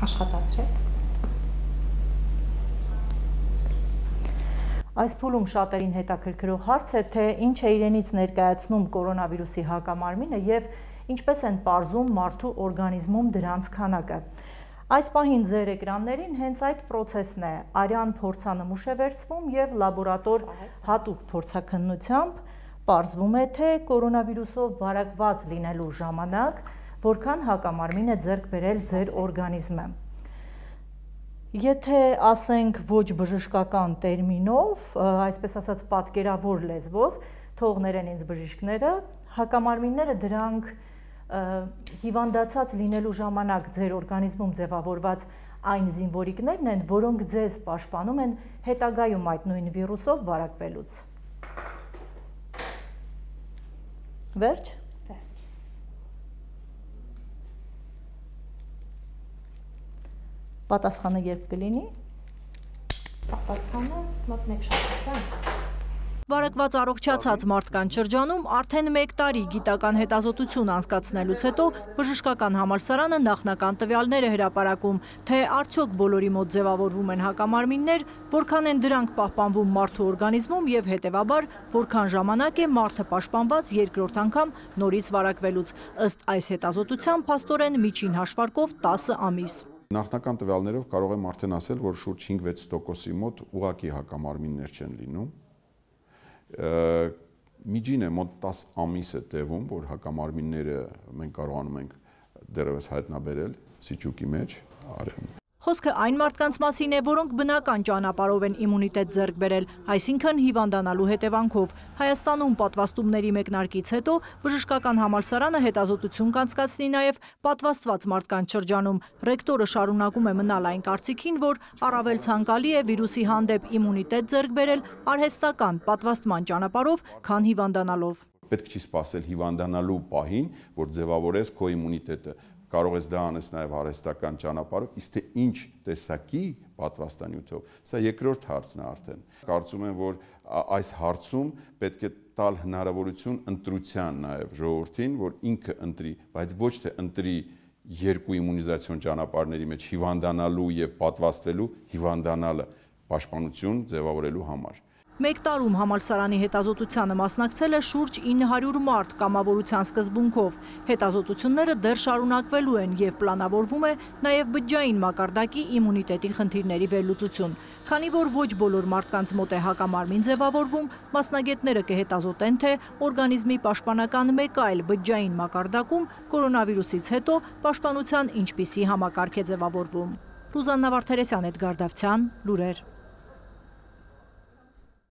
Աշխատացրեք։ Այս փուլում շատերին հետաքրքրող հարց է, թե ինչ է իրենից ներկայացնում կորոնավիրուսի հակամարմինը եւ ինչպես են պարզում մարդու օրգանիզմում դրանց քանակը։ Այս պահին ձեր էկրաններին հենց այդ պրոցեսն է, արյան փորձանմուշ է վերցվում եւ լաբորատոր հատուկ փորձաքննությամբ պարզվում է, թե կորոնավիրուսով վարակված լինելու ժամանակ որքան հակամարմին է ձեռք բերել ձեր օրգանիզմը։ Եթե ասենք ոչ բժշկական տերմինով, այսպես ասած պատկերավոր լեզվով, թող ներեն ինձ բժիշկները, հակամարմինները դրանք հիվանդացած լինելու ժամանակ ձեր օրգանիզմում ձևավորված այն զինվորիկներն են, որոնք ձեզ պաշտպանում են հետագայում այդ նույն վիրուսով վարակվելուց։ Վերջ։ Պատասխանը երբ կլինի։ Պատասխանը մոտ 1 շաբաթ։ Վարակված առողջացած մարդկանց շրջանում արդեն 1 տարի գիտական հետազոտություն անցկացնելուց հետո բժշկական համալսարանը նախնական տվյալներ է հրապարակում, թե արդյոք բոլորի մոտ ձևավորվում են հակամարմիններ, որքան են դրանք պահպանվում մարդու օրգանիզմում եւ հետեւաբար որքան ժամանակ է մարդը պաշտպանված երկրորդ անգամ նորից վարակվելուց։ Ըստ այս հետազոտության փաստորեն միջին հաշվարկով 10 ամիս։ Նախնական տվյալներով կարող եմ արդեն ասել, որ շուրջ 5-6%-ի մոտ ուղղակի հակամարմիններ չեն լինում։ Միջինը մոտ 10 ամիս է տևում, որ հակամարմինները մենք կարողանում ենք դեռևս հայտնաբերել սիճուկի մեջ, արևում։ Խոսքը այն մարդկանց մասին է, որոնք բնական ճանապարհով են իմունիտետ ձեռք բերել, այսինքն հիվանդանալու հետևանքով։ Հայաստանում պատվաստումների մեկնարկից հետո բժշկական համալսարանը հետազոտություն կանցկացնի նաև պատվաստված մարդկանց շրջանում։ Ռեկտորը շարունակում է մնալ այն կարծիքին, որ առավել ցանկալի է վիրուսի հանդեպ իմունիտետ ձեռք բերել արհեստական պատվաստման ճանապարհով, քան հիվանդանալով։ Պետք չի սպասել հիվանդանալու պահին, որ ձևավորես քո իմունիտետը։ Կարող ես դա անես նաև արհեստական ճանապարհով, իսկ թե ինչ տեսակի պատվաստանյութով, սա երկրորդ հարցն է արդեն։ Կարծում եմ, որ այս հարցում պետք է տալ հնարավորություն ընտրության նաև ժողովրդին, որ ինքը ընտրի, բայց ոչ թե ընտրի երկու իմունիզացիոն ճանապարհների մեջ հիվանդանալու եւ պատվաստվելու հիվանդանալը պաշտպանություն ձևավորելու համար։ 1 տարում համալսարանի հետազոտությանը մասնակցել է շուրջ 900 մարդ կամավորության սկզբունքով։ Հետազոտությունները դեռ շարունակվելու են եւ պլանավորվում է նաեւ բջջային մակարդակի իմունիտետի խնդիրների վերլուծություն։ Քանի որ ոչ բոլոր մարդկանց մոտ է հակամարմին ձևավորվում, մասնագետները կհետազոտեն, թե օրգանիզմի պաշտպանական մեկ այլ բջջային մակարդակում կորոնավիրուսից հետո պաշտպանության ինչպիսի համակարգ է ձևավորվում։ Ռուզաննա Վարդերեսյան, Էդգար Դավթյան, լուրեր։